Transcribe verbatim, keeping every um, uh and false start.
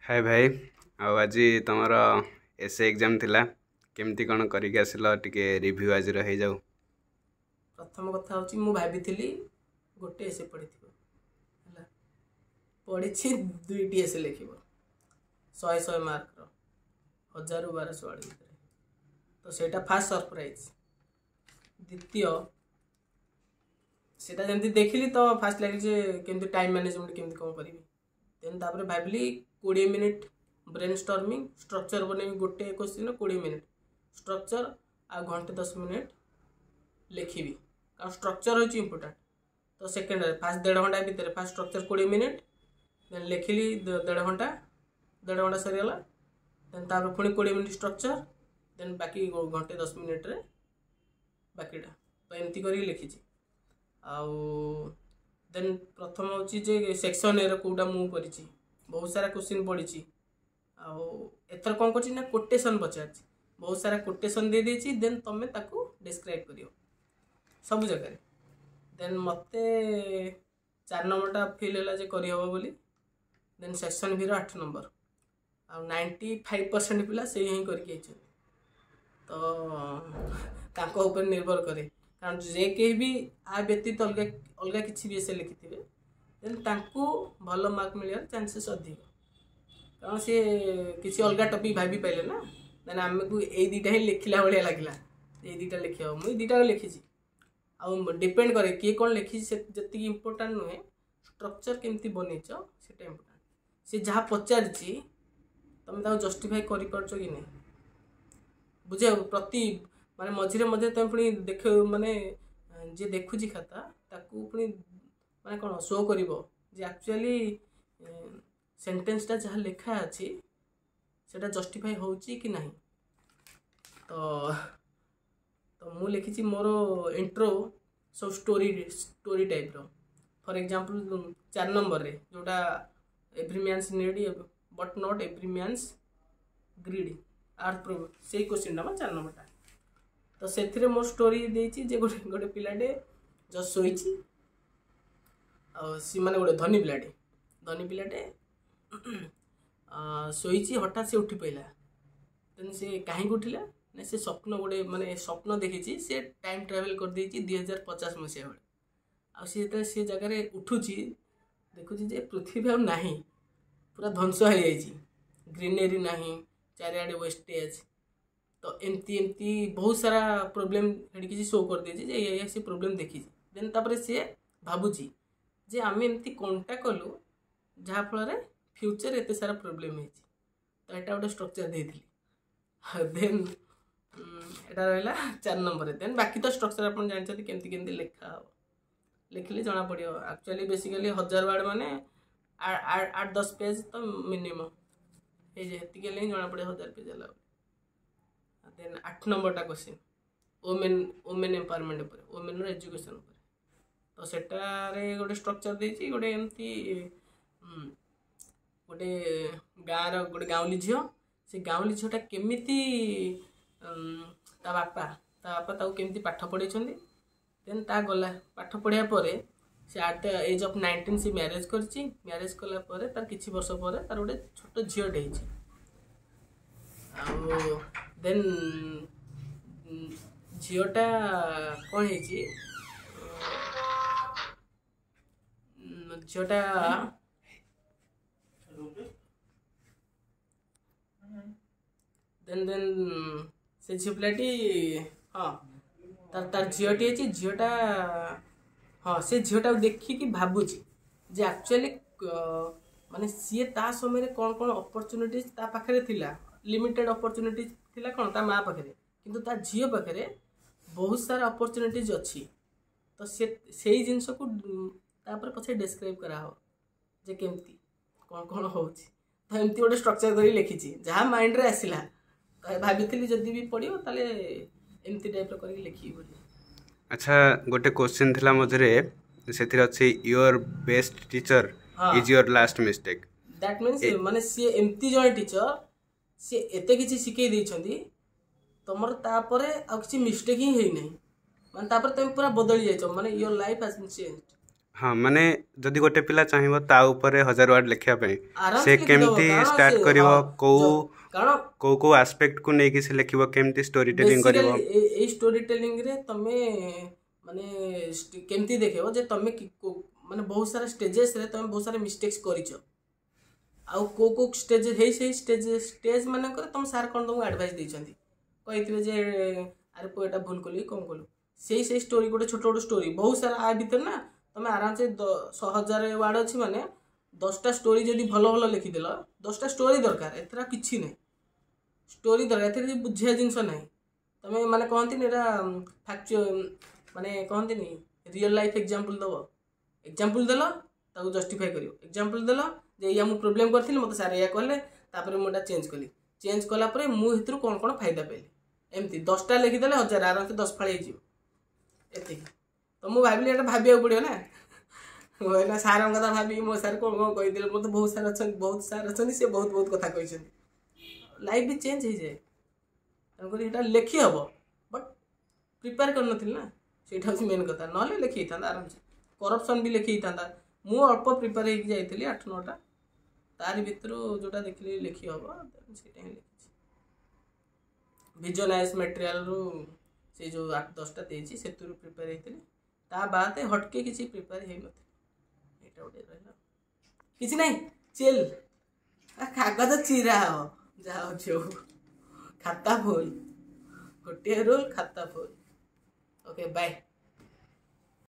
ହାଏ ଭାଇ, ଆଉ ଆଜି ତୁମର ଏସ୍ ଏ ଏକ୍ଜାମ୍ ଥିଲା, କେମିତି କ'ଣ କରିକି ଆସିଲ? ଟିକେ ରିଭ୍ୟୁ ଆଜିର ହେଇଯାଉ। ପ୍ରଥମ କଥା ହେଉଛି, ମୁଁ ଭାବିଥିଲି ଗୋଟେ ଏସେ ପଢ଼ିଥିବ ହେଲା, ପଢ଼ିଛି ଦୁଇଟି ଏସେ ଲେଖିବ, ଶହେ ଶହେ ମାର୍କର, ହଜାରରୁ ବାରଶହ ୱାର୍ଡ଼ ଭିତରେ। ତ ସେଇଟା ଫାର୍ଷ୍ଟ ସରପ୍ରାଇଜ୍। ଦ୍ୱିତୀୟ, ସେଇଟା ଯେମିତି ଦେଖିଲି ତ ଫାର୍ଷ୍ଟ ଲାଗିଲି ଯେ କେମିତି ଟାଇମ୍ ମ୍ୟାନେଜମେଣ୍ଟ କେମିତି କ'ଣ କରିବି। ଦେନ୍ ତାପରେ ଭାବିଲି କୋଡ଼ିଏ ମିନିଟ୍ ବ୍ରେନ୍ ଷ୍ଟର୍ମିଂ, ଷ୍ଟ୍ରକ୍ଚର୍ ବନେଇବି। ଗୋଟେ କୋଶ୍ଚିନ୍ର କୋଡ଼ିଏ ମିନିଟ୍ ଷ୍ଟ୍ରକ୍ଚର୍ ଆଉ ଘଣ୍ଟେ ଦଶ ମିନିଟ୍ ଲେଖିବି, କାରଣ ଷ୍ଟ୍ରକ୍ଚର୍ ହେଉଛି ଇମ୍ପୋର୍ଟାଣ୍ଟ। ତ ସେକେଣ୍ଡରେ ଫାର୍ଷ୍ଟ ଦେଢ଼ ଘଣ୍ଟା ଭିତରେ ଫାର୍ଷ୍ଟ ଷ୍ଟ୍ରକ୍ଚର୍ କୋଡ଼ିଏ ମିନିଟ୍, ଦେନ୍ ଲେଖିଲି ଦେଢ଼ ଘଣ୍ଟା, ଦେଢ଼ ଘଣ୍ଟା ସରିଗଲା। ଦେନ୍ ତାପରେ ପୁଣି କୋଡ଼ିଏ ମିନିଟ୍ ଷ୍ଟ୍ରକ୍ଚର୍, ଦେନ୍ ବାକି ଘଣ୍ଟେ ଦଶ ମିନିଟ୍ରେ ବାକିଟା। ତ ଏମିତି କରିକି ଲେଖିଛି। ଆଉ ଦେନ୍ ପ୍ରଥମ ହେଉଛି ଯେ ସେକ୍ସନ୍ ଏର କେଉଁଟା ମୁଁ କରିଛି, ବହୁତ ସାରା କୋଶ୍ଚିନ୍ ପଡ଼ିଛି। ଆଉ ଏଥର କ'ଣ କରିଛି ନା କୋଟେସନ୍ ପଚାରିଛି, ବହୁତ ସାରା କୋଟେସନ୍ ଦେଇଦେଇଛି, ଦେନ୍ ତୁମେ ତାକୁ ଡେସ୍କ୍ରାଇବ୍ କରିବ ସବୁ ଜାଗାରେ। ଦେନ୍ ମୋତେ ଚାରି ନମ୍ବରଟା ଫିଲ୍ ହେଲା ଯେ କରିହେବ ବୋଲି। ଦେନ୍ ସେକ୍ସନ୍ ଭିର ଆଠ ନମ୍ବର, ଆଉ ନାଇଣ୍ଟି ଫାଇଭ୍ ପରସେଣ୍ଟ ପିଲା ସେଇ ହିଁ କରିକି ହେଇଛନ୍ତି। ତ ତାଙ୍କ ଉପରେ ନିର୍ଭର କରେ, କାରଣ ଯେ କେହି ବି ଆ ବ୍ୟତୀତ ଅଲଗା ଅଲଗା କିଛି ବି ଏସେ ଲେଖିଥିବେ, ଦେନ୍ ତାଙ୍କୁ ଭଲ ମାର୍କ ମିଳିବାର ଚାନ୍ସେସ୍ ଅଧିକ, କାରଣ ସିଏ କିଛି ଅଲଗା ଟପିକ୍ ଭାବି ପାଇଲେ ନା। ଦେନ୍ ଆମକୁ ଏଇ ଦୁଇଟା ହିଁ ଲେଖିଲା ଭଳିଆ ଲାଗିଲା, ଏଇ ଦୁଇଟା ଲେଖିବ। ମୁଁ ଏଇ ଦୁଇଟା ଲେଖିଛି। ଆଉ ଡିପେଣ୍ଡ କରେ କିଏ କ'ଣ ଲେଖିଛି, ସେ ଯେତିକି ଇମ୍ପୋର୍ଟାଣ୍ଟ ନୁହେଁ, ଷ୍ଟ୍ରକ୍ଚର୍ କେମିତି ବନେଇଛ ସେଇଟା ଇମ୍ପୋର୍ଟାଣ୍ଟ। ସେ ଯାହା ପଚାରିଛି ତୁମେ ତାକୁ ଜଷ୍ଟିଫାଏ କରିପାରୁଛ କି ନାହିଁ ବୁଝିବାକୁ ପ୍ରତି, ମାନେ ମଝିରେ ମଝିରେ ତୁମେ ପୁଣି ଦେଖ, ମାନେ ଯିଏ ଦେଖୁଛି ଖାତା ତାକୁ ପୁଣି ମାନେ କ'ଣ ଶୋ କରିବ ଯେ ଆକ୍ଚୁଆଲି ସେଣ୍ଟେନ୍ସଟା ଯାହା ଲେଖା ଅଛି ସେଇଟା ଜଷ୍ଟିଫାଏ ହେଉଛି କି ନାହିଁ। ତ ତ ମୁଁ ଲେଖିଛି ମୋର ଇଣ୍ଟ୍ରୋ ସବୁ ଷ୍ଟୋରି ଷ୍ଟୋରି ଟାଇପ୍ର। ଫର୍ ଏକ୍ଜାମ୍ପଲ୍, ଚାରି ନମ୍ବରରେ ଯେଉଁଟା "Every man's need but not every man's greed earth", ସେଇ କୋଶ୍ଚିନ୍ଟା ମ ଚାରି ନମ୍ବରଟା। ତ ସେଥିରେ ମୋ ଷ୍ଟୋରି ଦେଇଛି ଯେ ଗୋଟେ ଗୋଟେ ପିଲାଟେ ଜଷ୍ଟ ଶୋଇଛି, ଆଉ ସେ ମାନେ ଗୋଟେ ଧନୀ ପିଲାଟେ ଧନୀ ପିଲାଟେ ଶୋଇଛି, ହଠାତ୍ ସେ ଉଠି ପଡ଼ିଲା। ଦେନ୍ ସେ କାହିଁକି ଉଠିଲା ନା ସେ ସ୍ୱପ୍ନ ଗୋଟେ ମାନେ ସ୍ୱପ୍ନ ଦେଖିଛି, ସେ ଟାଇମ୍ ଟ୍ରାଭେଲ୍ କରିଦେଇଛି ଦୁଇ ହଜାର ପଚାଶ ମସିହା ବେଳେ। ଆଉ ସେ ଯେତେବେଳେ ସେ ଜାଗାରେ ଉଠୁଛି, ଦେଖୁଛି ଯେ ପୃଥିବୀ ଆଉ ନାହିଁ, ପୁରା ଧ୍ୱଂସ ହେଇଯାଇଛି, ଗ୍ରିନେରୀ ନାହିଁ, ଚାରିଆଡ଼େ ୱେଷ୍ଟେଜ୍। ତ ଏମିତି ଏମିତି ବହୁତ ସାରା ପ୍ରୋବ୍ଲେମ୍ ସେଠି କିଛି ଶୋ କରିଦେଇଛି ଯେ ଏଇଆ ସେ ପ୍ରୋବ୍ଲେମ୍ ଦେଖିଛି। ଦେନ୍ ତାପରେ ସିଏ ଭାବୁଛି ଯେ ଆମେ ଏମିତି କ'ଣଟା କଲୁ ଯାହାଫଳରେ ଫ୍ୟୁଚର୍ ଏତେ ସାରା ପ୍ରୋବ୍ଲେମ୍ ହେଇଛି। ତ ଏଇଟା ଗୋଟେ ଷ୍ଟ୍ରକ୍ଚର୍ ଦେଇଥିଲି। ଦେନ୍ ଏଇଟା ରହିଲା ଚାରି ନମ୍ବରରେ। ଦେନ୍ ବାକି ତ ଷ୍ଟ୍ରକ୍ଚର୍ ଆପଣ ଜାଣିଛନ୍ତି କେମିତି କେମିତି ଲେଖା ହେବ, ଲେଖିଲେ ଜଣାପଡ଼ିବ। ଆକ୍ଚୁଆଲି ବେସିକାଲି ହଜାର ୱାର୍ଡ଼ ମାନେ ଆଠ ଦଶ ପେଜ୍ ତ ମିନିମମ୍ ହେଇଯାଏ, ହେତିକି ହେଲେ ହିଁ ଜଣାପଡ଼ିବ ହଜାର ପେଜ୍ ହେଲା ବୋଲି। ଦେନ୍ ଆଠ ନମ୍ବରଟା କୋଶ୍ଚିନ୍ ଓମେନ୍ ଓମେନ୍ ଏମ୍ପାୱାରମେଣ୍ଟ ଉପରେ, ଓମେନ୍ର ଏଜୁକେସନ୍ ଉପରେ। ତ ସେଟାରେ ଗୋଟେ ଷ୍ଟ୍ରକ୍ଚର୍ ଦେଇଛି, ଗୋଟେ ଏମିତି ଗୋଟେ ଗାଁର ଗୋଟେ ଗାଉଁଲି ଝିଅ, ସେ ଗାଉଁଲି ଝିଅଟା କେମିତି ତା ବାପା ତା ବାପା ତାକୁ କେମିତି ପାଠ ପଢ଼େଇଛନ୍ତି। ଦେନ୍ ତା ଗଲା ପାଠ ପଢ଼ିବା ପରେ ସେ at the age of nineteen ସେ ମ୍ୟାରେଜ୍ କରିଛି। ମ୍ୟାରେଜ୍ କଲା ପରେ ତାର କିଛି ବର୍ଷ ପରେ ତାର ଗୋଟେ ଛୋଟ ଝିଅଟେ ହେଇଛି। ଆଉ ଦେନ୍ ଝିଅଟା କ'ଣ ହେଇଛି, ଝିଅଟା ଦେନ୍ ଦେନ୍ ସେ ଝିଅ ପିଲାଟି, ହଁ, ତାର ତାର ଝିଅଟି ହେଇଛି। ଝିଅଟା, ହଁ, ସେ ଝିଅଟାକୁ ଦେଖିକି ଭାବୁଛି ଯେ ଆକ୍ଚୁଆଲି ମାନେ ସିଏ ତା ସମୟରେ କ'ଣ କ'ଣ ଅପରଚ୍ୟୁନିଟିଜ୍ ତା ପାଖରେ ଥିଲା, ଲିମିଟେଡ଼ ଅପରଚ୍ୟୁନିଟିଜ୍ ଥିଲା କ'ଣ ତା ମା ପାଖରେ, କିନ୍ତୁ ତା ଝିଅ ପାଖରେ ବହୁତ ସାରା ଅପରଚ୍ୟୁନିଟିଜ୍ ଅଛି। ତ ସେ ସେଇ ଜିନିଷକୁ ତାପରେ ପଛରେ ଡେସ୍କ୍ରାଇବ୍ କରାହେବ ଯେ କେମିତି କ'ଣ କ'ଣ ହେଉଛି। ତ ଏମିତି ଗୋଟେ ଷ୍ଟ୍ରକ୍ଚର୍ କରି ଲେଖିଛି, ଯାହା ମାଇଣ୍ଡରେ ଆସିଲା। ତ ଭାବିଥିଲି ଯଦି ବି ପଡ଼ିବ ତାହେଲେ ଏମିତି ଟାଇପ୍ର କରିକି ଲେଖିବି ବୋଲି। ଆଚ୍ଛା, ଗୋଟେ କୋଶ୍ଚିନ୍ ଥିଲା ମଝିରେ, ସେଥିରେ ଅଛି "Your best teacher is your last mistake"। That means ମାନେ ସିଏ ଏମିତି ଜଣେ ଟିଚର, ସିଏ ଏତେ କିଛି ଶିଖେଇ ଦେଇଛନ୍ତି ତମର, ତାପରେ ଆଉ କିଛି ମିଷ୍ଟେକ୍ ହିଁ ହେଇନାହିଁ, ମାନେ ତାପରେ ତମେ ପୁରା ବଦଳି ଯାଇଛ, ମାନେ your life has been change. ହଁ, ମାନେ ଯଦି ଗୋଟେ ପିଲା ଚାହିଁବ ତା ଉପରେ ହଜାର ୱାର୍ଡ ଲେଖିବା ପାଇଁ, ଆରାମସେ ସେ ଲେଖିଦବ। କେମିତି କାରଣ ଷ୍ଟାର୍ଟ ସେ କରିବ? ହଁ, କୋଉ କାରଣ କୋଉ କୋଉ ଆସ୍ପେକ୍ଟକୁ ନେଇକି ସେ ଲେଖିବ, କେମିତି ଷ୍ଟୋରି ଟେଲିଂ କରିବ? ବେସିକାଲି ଏଇ ଷ୍ଟୋରି ଟେଲିଂରେ ତମେ ମାନେ ଷ୍ଟ- କେମିତି ଦେଖେଇବ ଯେ ତମେ କି- କୋ- ମାନେ ବହୁତ ସାରା ଷ୍ଟେଜେସରେ ତମେ ବହୁତ ସାରା ମିଷ୍ଟେକ୍ସ କରିଛ, ଆଉ କୋଉ କୋଉ ଷ୍ଟେଜ ହେଇ ସେଇ ଷ୍ଟେଜ ଷ୍ଟେଜ ମାନଙ୍କରେ ତମ ସାର୍ କ'ଣ ତମକୁ ଆଡ଼ଭାଇସ୍ ଦେଇଛନ୍ତି, କହିଥିବେ ଯେ ଆରେ ପୁଅ, ଏଇଟା ଭୁଲ କଲୁ କି କ'ଣ କଲୁ। ସେଇ ସେଇ ଷ୍ଟୋରି, ଗୋଟେ ଛୋଟ ଛୋଟ ଷ୍ଟୋରି ବହୁତ ସାରା ଆ ଭିତରେ ନା ତମେ ଆରାମସେ ଦଶ ହଜାର ୱାର୍ଡ଼ ଅଛି, ମାନେ ଦଶଟା ଷ୍ଟୋରି ଯଦି ଭଲ ଭଲ ଲେଖିଦେଲ, ଦଶଟା ଷ୍ଟୋରି ଦରକାର, ଏଥିରେ ଆଉ କିଛି ନାହିଁ। ଷ୍ଟୋରି ଦରକାର, ଏଥିରେ କିଛି ବୁଝିବା ଜିନିଷ ନାହିଁ। ତମେ ମାନେ କହନ୍ତିନି ଏଇଟା ଫ୍ୟାକ୍ଚୁ ମାନେ କହନ୍ତିନି ରିଅଲ୍ ଲାଇଫ୍ ଏକ୍ଜାମ୍ପଲ୍ ଦେବ। ଏକ୍ଜାମ୍ପଲ୍ ଦେଲ, ତାକୁ ଜଷ୍ଟିଫାଏ କରିବ। ଏକ୍ଜାମ୍ପଲ୍ ଦେଲ ଯେ ଏଇଆ ମୁଁ ପ୍ରୋବ୍ଲେମ୍ କରିଥିଲି, ମୋତେ ସାର୍ ଏଇଆ କହିଲେ, ତାପରେ ମୁଁ ଏଇଟା ଚେଞ୍ଜ କଲି, ଚେଞ୍ଜ କଲା ପରେ ମୁଁ ଏଥିରୁ କ'ଣ କ'ଣ ଫାଇଦା ପାଇଲି। ଏମିତି ଦଶଟା ଲେଖିଦେଲେ ହଜାର ଆରାମସେ ଦଶ ଫାଳ ହେଇଯିବ। ଏତିକି ତ ମୁଁ ଭାବିଲି, ଏଇଟା ଭାବିବାକୁ ପଡ଼ିବ ନା। ମୁଁ ଏଇନା ସାର୍ଙ୍କ କଥା ଭାବିକି, ମୋ ସାର୍ କ'ଣ କ'ଣ କହିଥିଲେ। ମୋତେ ବହୁତ ସାର୍ ଅଛନ୍ତି, ବହୁତ ସାର୍ ଅଛନ୍ତି, ସେ ବହୁତ ବହୁତ କଥା କହିଛନ୍ତି। ଲାଇଫ୍ ବି ଚେଞ୍ଜ ହେଇଯାଏ, ତେଣୁକରି ଏଇଟା ଲେଖି ହେବ, ବଟ୍ ପ୍ରିପେୟାର କରିନଥିଲି ନା, ସେଇଟା ହେଉଛି ମେନ୍ କଥା। ନହେଲେ ଲେଖି ହେଇଥାନ୍ତା ଆରାମସେ, କରପ୍ସନ୍ ବି ଲେଖି ହେଇଥାନ୍ତା। ମୁଁ ଅଳ୍ପ ପ୍ରିପେୟାର ହେଇକି ଯାଇଥିଲି, ଆଠ ନଅଟା, ତାରି ଭିତରୁ ଯେଉଁଟା ଦେଖିଲି ଲେଖି ହେବ, ସେଇଟା ହିଁ ଲେଖିଛି। ଭିଜନ ଆଇଏଏସ୍ ମେଟେରିଆଲରୁ ସେଇ ଯେଉଁ ଆଠ ଦଶଟା ଦେଇଛି, ସେଥିରୁ ପ୍ରିପେୟାର ହେଇଥିଲି। ତା ବାଦେ ହଟକେ କିଛି ପ୍ରିପେୟାର ହେଇନଥିଲି। ଏଇଟା ଗୋଟେ ରହିଲା, କିଛି ନାହିଁ, ଚିଲ୍। କାଗଜ ଚିରା ହବ, ଯାହା ହଉଛି ହଉ, ଖାତା ଫୁଲ। ଗୋଟିଏ ରୋଲ, ଖାତା ଫୁଲ। Okay, bye.